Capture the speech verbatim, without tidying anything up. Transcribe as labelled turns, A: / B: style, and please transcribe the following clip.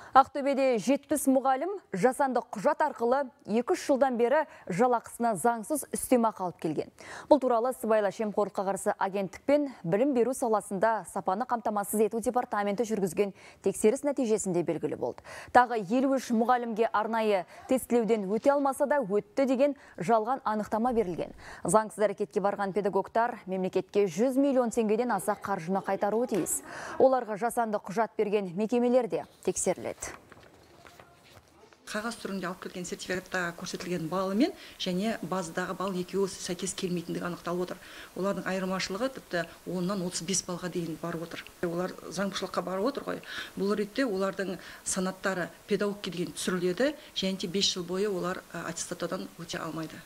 A: Ақтөбеде жетпіс мұғалім жасанды құжат арқылы екі үш жылдан бері жалақысына заңсыз үстемақы алып келген. Бұл туралы сыбайлас жемқорлыққа қарсы агенттік пен білім беру саласында сапаны қамтамасыз ету департаменті жүргізген тексеріс нәтижесінде белгілі болды. Тағы елу үш мұғалімге арнайы тестілеуден өте алмаса да өтті деген жалған анықтама берілген. Заңсыз әрекетке барған педагогтар мемлекетке жүз миллион теңгеден аса қаржыны қайтаруы тиіс. Оларға жасанды құжат берген мекемелерде тексеріледі.
B: Қағаз түрінде алып келген сертификатта көрсетілген баллы мен және базадағы балл екеуі сәйкес келмейтіндігі анықталып отыр. Олардың айырмашылығы тіпті оннан отыз бес балға дейін барып отыр. Олар заңбұзушылыққа барып отыр ғой. Бұл ретте олардың санаттары педагогке дейін түсіріледі, және бес жыл бойы олар аттестаттаудан өте алмайды.